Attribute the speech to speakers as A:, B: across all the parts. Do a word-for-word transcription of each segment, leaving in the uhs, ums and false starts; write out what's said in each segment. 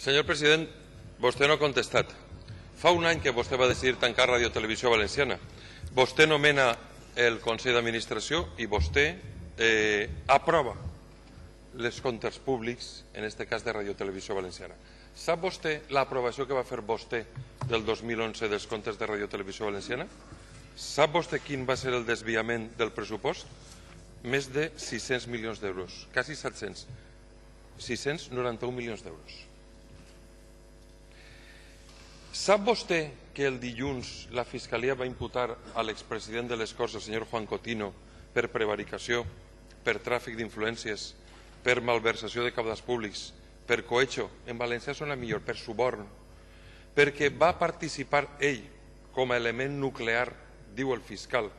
A: Senyor president, vostè no ha contestat. Fa un any que vostè va decidir tancar Radio Televisió Valenciana. Vostè nomena el Consell d'Administració i vostè eh, aprova els comptes públics, en aquest cas de Radio Televisió Valenciana. Sap vostè l'aprovació que va fer vostè del dos mil onze dels comptes de Radio Televisió Valenciana? Sap vostè quin va ser el desviament del pressupost? Més de sis-cents milions d'euros, quasi set-cents. sis-cents noranta-un milions d'euros. Sap vostè que el dilluns la Fiscalia va imputar a l'expresident de les Corts, el senyor Juan Cotino, per prevaricació, per tràfic d'influències, per malversació de cabals públics, per cohecho, en valencià sona millor, per suborn, perquè va participar ell com a element nuclear, diu el fiscal,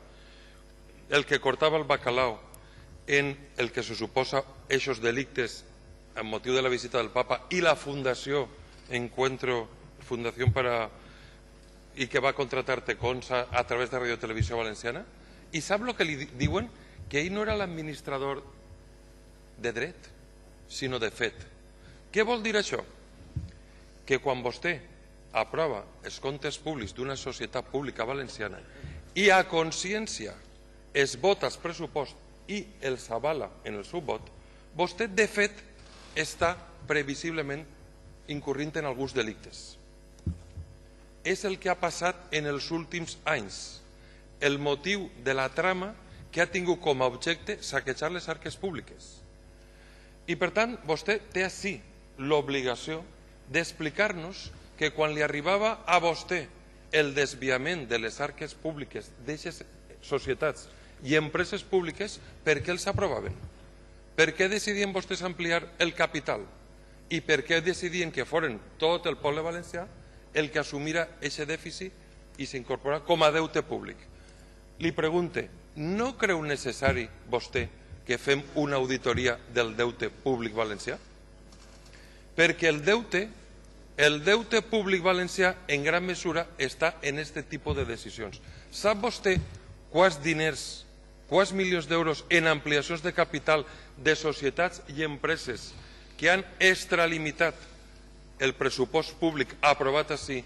A: el que cortava el bacalao en el que se suposa eixos delictes amb motiu de la visita del papa i la fundació Encuentro Fundació para i que va contratar Tecons a, a través de Radio Televisió Valenciana. I sap el que li diuen? Que ell no era l'administrador de dret, sinó de fet. Què vol dir això? Que quan vostè aprova els comptes públics d'una societat pública valenciana i a consciència es vota el pressupost i els avala en el seu vot, vostè de fet està previsiblement incorrint en alguns delictes. És el que ha passat en els últims anys, el motiu de la trama que ha tingut com a objecte saquejar les arques públiques. I per tant, vostè té així l'obligació d'explicar-nos que quan li arribava a vostè el desviament de les arques públiques d'aquestes societats i empreses públiques, per què els aprovaven? Per què decidien vostès ampliar el capital? I per què decidien que foren tot el poble valencià el que assumira aquest dèficit i s'incorpora com a deute públic? Li pregunte, no creu necessari vostè que fem una auditoria del deute públic valencià? Perquè el deute, el deute públic valencià en gran mesura està en aquest tipus de decisions. Sap vostè quants diners, quants milions d'euros en ampliacions de capital de societats i empreses que han extralimitat el pressupost públic aprovat així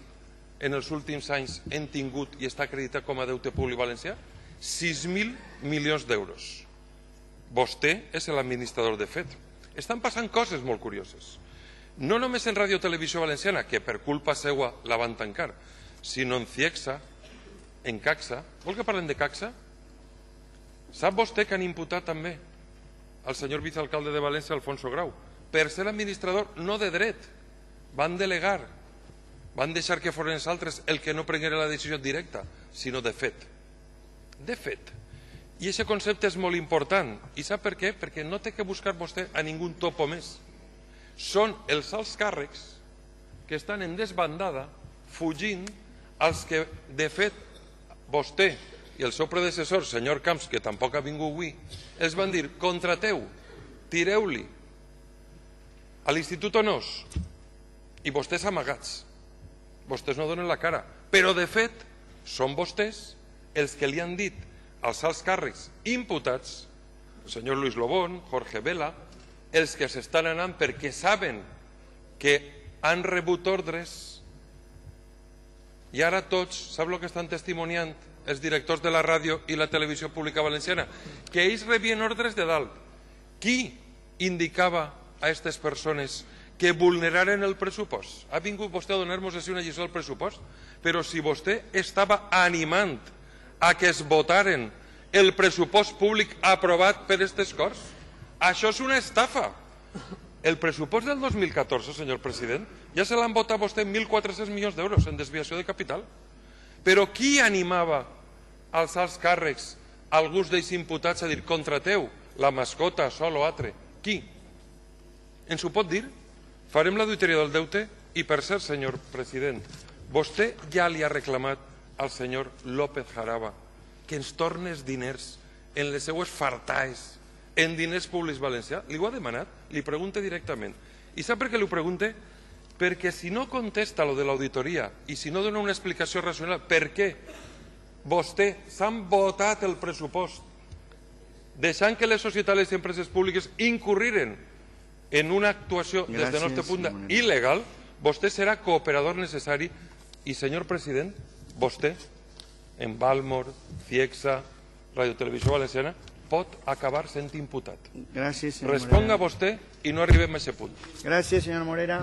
A: en els últims anys hem tingut i està acreditat com a deute públic valencià? sis mil milions d'euros. Vostè és l'administrador de fet. Estan passant coses molt curioses. No només en Radio Televisió Valenciana, que per culpa seua la van tancar, sinó en Ciegsa, en Caxa. Vol que parlem de Caxa? Sap vostè que han imputat també al senyor vicealcalde de València, Alfonso Grau, per ser administrador no de dret, van delegar, van deixar que foren els altres el que no prenguera la decisió directa, sinó de fet. De fet. I aquest concepte és molt important. I sap per què? Perquè no té que buscar vostè a ningú topo més. Són els alts càrrecs que estan en desbandada fugint als que, de fet, vostè i el seu predecessor, senyor Camps, que tampoc ha vingut avui, els van dir, contrateu, tireu-li a l'Institut Honors, i vostès amagats. Vostès no donen la cara. Però, de fet, són vostès els que li han dit als alts càrrecs imputats, el senyor Luis Lobón, Jorge Vela, els que s'estan anant perquè saben que han rebut ordres i ara tots, sap el que estan testimoniant els directors de la ràdio i la televisió pública valenciana? Que ells rebien ordres de dalt. Qui indicava a aquestes persones que vulneraren el pressupost? Ha vingut vostè a donar-nos així una lliçó del pressupost? Però si vostè estava animant a que es votaren el pressupost públic aprovat per aquestes Corts, això és una estafa. El pressupost del dos mil catorze, senyor president, ja se l'han votat vostè mil quatre-cents milions d'euros en desviació de capital. Però qui animava als alts càrrecs, alguns d'ells imputats, a dir contrateu la mascota, sol o altre? Qui? Ens ho pot dir? Farem l'auditoria del deute i, per cert, senyor president, vostè ja li ha reclamat al senyor López Jaraba que ens torni els diners en les seues fartaes, en diners públics valencià. Li ho ha demanat? Li pregunte directament. I sap per què li ho pregunte? Perquè si no contesta lo de l'auditoria i si no dona una explicació racional per què vostè s'han votat el pressupost deixant que les societats i les empreses públiques incurriren en una actuació, des del nostre punt de vista, il·legal, vostè serà cooperador necessari i, senyor president, vostè, en Valmor, Ciexa, Radiotelevisió Valenciana, pot acabar sent imputat.
B: Gràcies, senyor
A: Responga
B: Morera.
A: vostè i no arribem a aquest punt.
B: Gràcies, senyor Morera.